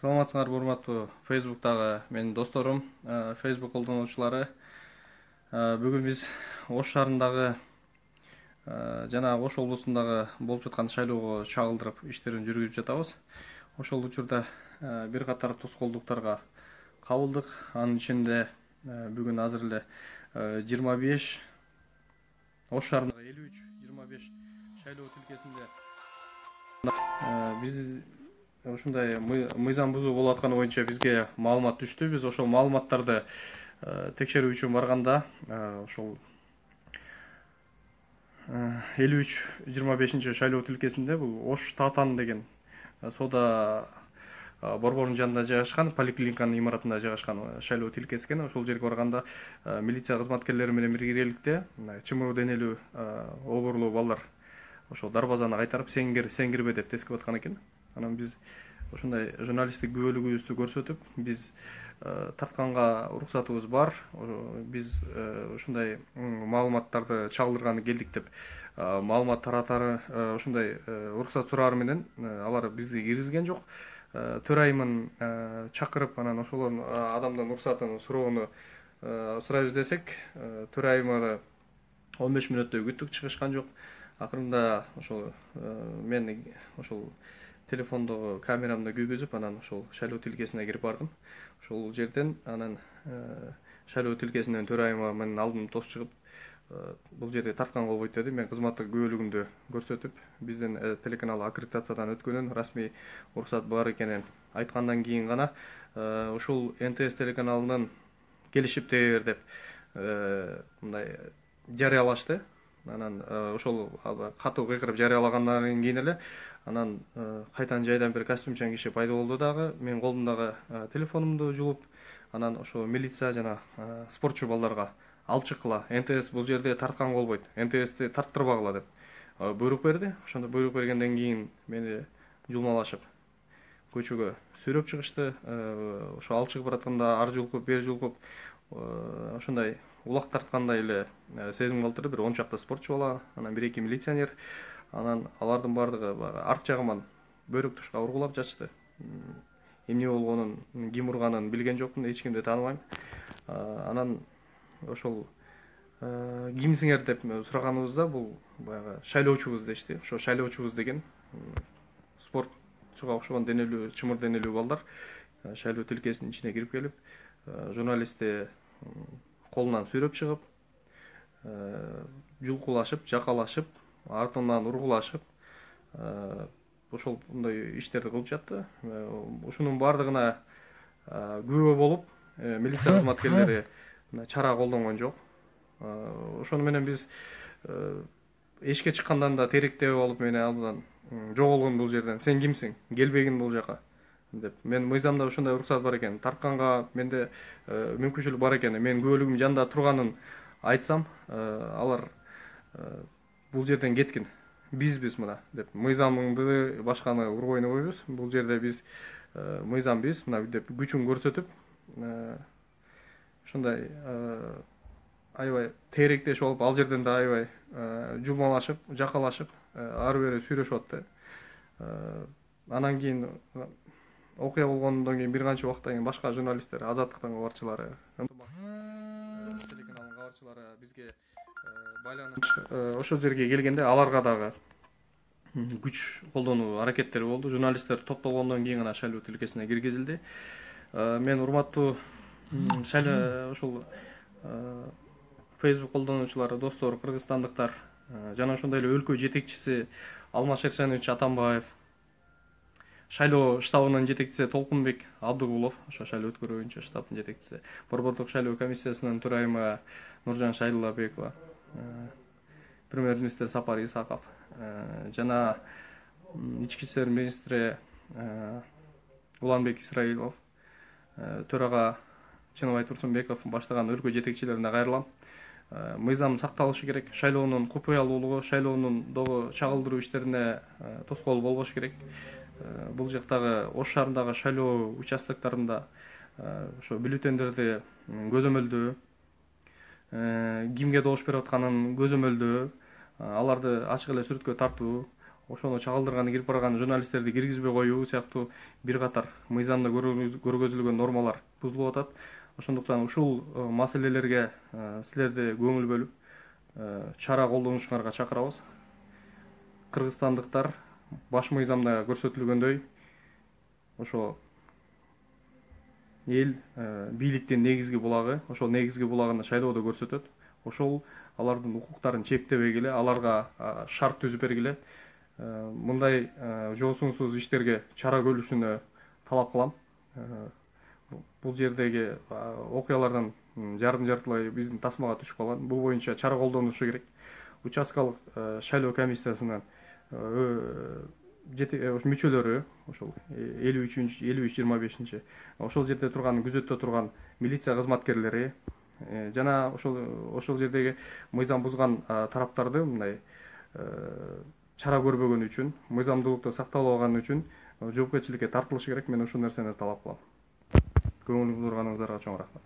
Саламатсыңарбы урматтуу Facebook'тагы менин досторум, Facebook колдонуучулары. Бүгүн биз Ош шаарындагы жана Ош облусундагы болуп жаткан шайлоого чагылдырып иштерин жүргүзүп жатабыз. Ошол учурда бир катар тоскоолдуктарга кабылдык. Анын ичинде бүгүн азыр эле 25 Ош шаарындагы 53-25 шайлоо тилкесинде биз ушундай мыйзам бузуу болуп атканы боюнча бизге маалымат түштү. Биз ошол маалыматтарды текшерүү үчүн барганда ошол 53-25 шайлоо тилкесинде бул Ош Татан деген соода борборунун жанында жайгашкан, поликлиниканын имаратында жайгашкан шайлоо тилкеси экен. Ошол жерге барганда милиция кызматкерлери менен биргеликте чымыруу денелүү обурлуу балдар ошол дарбазаны кайтарып сен кирбе деп тескип аткан экен. Анан биз ошондой журналисттик күбөлүгүбүздү көрсөтүп, биз тартканга уруксатыбыз бар, биз ушундай маалыматтарды чагылдырганы келдик деп маалымат таратары ушундай уруксат сураар менен алар бизди киргизген жок. Төрайымын чакырып, анан ошол адамдын уруксатын суроону сурайбыз десек, төрайымы 15 мүнөттөй күттүк, чыгышкан жок. Акырында ошол мен ошол телефондогу камерамды күйгүзүп, анан ошол шайлоо тилкесине кирип бардым. Ошол жерден анан шайлоо тилкесинен төрайымы менин алдым тосуп чыгып, бул жерде тарткан болбойт деди. Мен кызматтык күбөлүгүмдү көрсөтүп, биздин телеканал аккредитациядан өткөнүн, расмий уруксат бар экенин айткандан кийин гана ушул НТС телеканалынын келишиптир деп мындай жарыялашты. Анан ошол катуу кыйкырып жарыялагандан кийин эле анан кайтан жайдан бир костюмчан киши пайда болду дагы. Мен колумдагы телефонумду жулуп, анан ошо милиция жана спортчу балдарга алып чыккыла. НТС бул жерде тарткан болбойт. НТСти тарттырбагыла деп буйрук берди. Ошондо буйрук бергенден кийин мени жулмалашып көчөгө сүйрөп чыгышты. Ошо алып чыгып баратканда ар жулкуп, бер жулкуп ошондой улак тарткандай эле сезим калтырды. Бир 10 чакты спортчу бала, анан 1-2 милиционер. Анан алардын бардыгы арт жагыман бөйрөк тушка ургулап жатышты. Эмне болгонун, ким урганын билген жокмун, эч кимди тааныбайм. Анан ошол кимсиңер деп сураганыбызда бул баягы шайлоочубуз дешти. Ошо шайлоочубуз деген спортчуга окшогон денелүү, чымыр денелүү балдар шайлоо тилкесинин ичине кирип келип, журналистти колунан сүйрөп чыгып, жулкулашып, жакалашып, артынан ургулашып, ошол мындай иштерди кылып жатты. Ушунун бардыгына күбө болуп, милиция кызматкерлери чара колдонгон жок. Ошону менен биз эшикке чыккандан да теректеп алып, мени абдан жоголгун бул жерден. Сен кимсиң? Келбегин бул жака деп. Мен мыйзамда ушундай уруксат бар экен. Тартканга менде мүмкүнчүлүк бар экен. Мен күбөлүгүм жанында турганын айтсам, алар бул жерден кеткин. Бизбиз мына деп. Мыйзамыңды башканы урбойн койбуз. Бул жерде биз мыйзам биз мына деп күчүн көрсөтүп, ушундай аябай теректешип алып, ал жерден да аябай жумалашып, жакалашып, ары бери сүйрөшүп атты. Анан кийин окуя болгондон кийин бир канча убакыттан кийин башка журналисттер, Азаттыктын кабарчылары, телеканалдын кабарчылары бизге байланыш ошол жерге келгенде аларга дагы күч колдонуу аракеттери болду. Журналисттер топтолгондон кийин гана шайлоо тилкесине киргизилди. Мен урматтуу ушул Facebook колдонуучулары, достор, кыргызстандыктар жана ошондой эле өлкө жетекчиси Алмаз Шерсенович Атамбаев, шайлоо штабынын жетекчиси Толкунбек Абдыгулов, ошо шайлоо өткөрүү боюнча штабтын жетекчиси, борбордук шайлоо комиссиясынын төрайымы Нуржан Шайлабекова, премьер-министр Сапар Исаков жана ички иштер министри Уланбек Исраилов, төрага Чыныбай Турсунбеков баштаган өлкө жетекчилерине кайрылам. Мыйзам сакталышы керек. Шайлоонун купуялуулугу, шайлоонун дагы чагылдыруу иштерине тоскоол болбош керек. Бул жактагы Ош шаарындагы шайлоо участоктарында ошо бюллетендерди көзөмөлдөө, кимге добуш берип атканын көзөмөлдөө, аларды ачык эле сүрөткө тартуу, ошону чагылдырган кирип барган журналисттерди киргизбей коюу сыяктуу бир катар мыйзамда көргөзүлгөн нормалар бузулуп атат. Ошондуктан ушул маселелерге силерди көңүл бөлүп чара колдонушуңарга чакырабыз. Кыргызстандыктар баш мыйзамда көрсөтүлгөндөй ошо эл бийликтин негизги булагы, ошол негизги булагын шайлоодо көрсөтөт. Ошол алардын укуктарын чектебей келе, аларга шарт түзүп бергиле. Мындай жоосунсуз иштерге чара көрүлүшүнө талап кылам. Бул жердеги окуялардан жартылай биздин тасмага түшүп калган. Бул боюнча чара колдонушу керек. Участкалык шайлоо комиссиясынын мүчөлөрү ошол 53-25 ошол жерде турган күзөттө турган милиция кызматкерлери жана ошол жердеги мыйзам бузган тараптарды мындай чара көрбөгөнү үчүн, мыйзамдуулукту сакталбаганы үчүн жоопкерчиликке тартылышы керек. Мен ушул нерсени талап кылам. Көңүл бурганыңыздарга чоң рахмат.